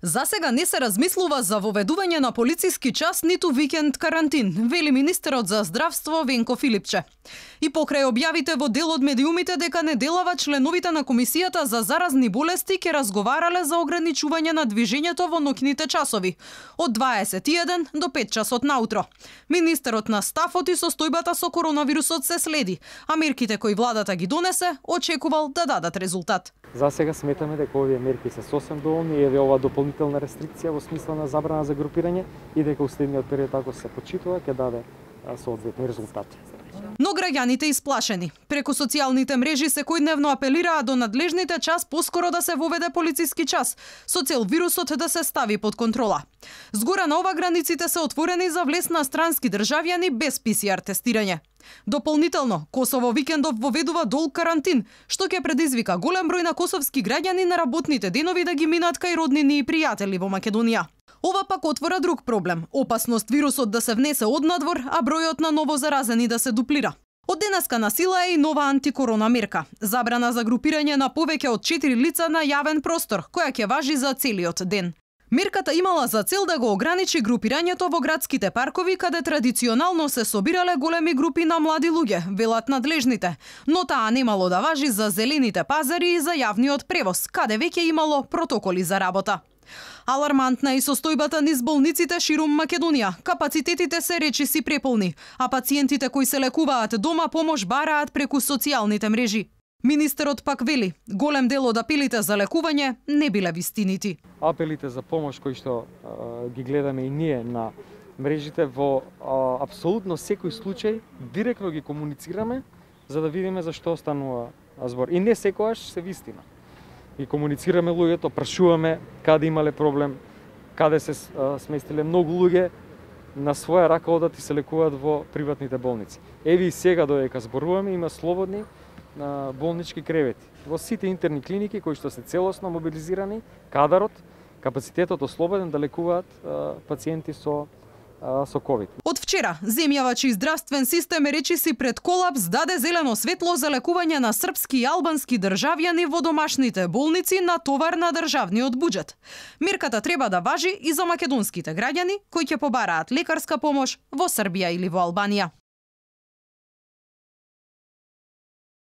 За сега не се размислува за воведување на полициски час ниту викенд карантин, вели министерот за здравство Венко Филипче. И покрај објавите во дел од медиумите дека неделава членовите на Комисијата за заразни болести ќе разговарале за ограничување на движењето во ноќните часови од 21 до 5 часот наутро. Министерот на стафот и состојбата со коронавирусот се следи, а мерките кои владата ги донесе очекувал да дадат резултат. За сега сметаме дека овие мерки се сосем доволни, еве ова дополнителна рестрикција во смисла на забрана за групирање и дека уследниот период ако се почитува ќе даде соодветни резултати. Но граѓаните исплашени. Преку социјалните мрежи секојдневно апелираа до надлежните час поскоро да се воведе полициски час, со цел вирусот да се стави под контрола. Згора на ова границите се отворени за влез на странски државјани без ПСР тестирање. Дополнително, Косово викендов воведува долг карантин, што ќе предизвика голем број на косовски граѓани на работните денови да ги минат кај роднини и пријатели во Македонија. Ова пак отвора друг проблем – опасност вирусот да се внесе од надвор, а бројот на ново заразени да се дуплира. Од денеска на сила е и нова антикорона мерка – забрана за групирање на повеќе од 4 лица на јавен простор, која ќе важи за целиот ден. Мерката имала за цел да го ограничи групирањето во градските паркови, каде традиционално се собирале големи групи на млади луѓе, велат надлежните, но таа немало да важи за зелените пазари и за јавниот превоз, каде веќе имало протоколи за работа. Алармантна е и состојбата низ болниците ширум Македонија. Капацитетите се речиси преполни, а пациентите кои се лекуваат дома помош бараат преку социјалните мрежи. Министерот пак вели, голем дел од апелите за лекување не биле вистинити. Апелите за помош кои што ги гледаме и ние на мрежите во апсолутно секој случај директно ги комуницираме за да видиме за што станува збор. И не секогаш се вистина. И комуницираме луѓето, прашуваме каде имале проблем, каде се сместиле многу луѓе на своја рака одат и се лекуваат во приватните болници. Еве и сега додека зборуваме има слободни болнички кревети во сите интерни клиники кои што се целосно мобилизирани, кадарот, капацитетот ослободен да лекуваат пациенти со COVID. Од вчера, земјавачи и здравствен систем речиси пред колапс даде зелено светло за лекување на српски и албански државјани во домашните болници на товар на државниот буџет. Мерката треба да важи и за македонските граѓани кои ќе побараат лекарска помош во Србија или во Албанија.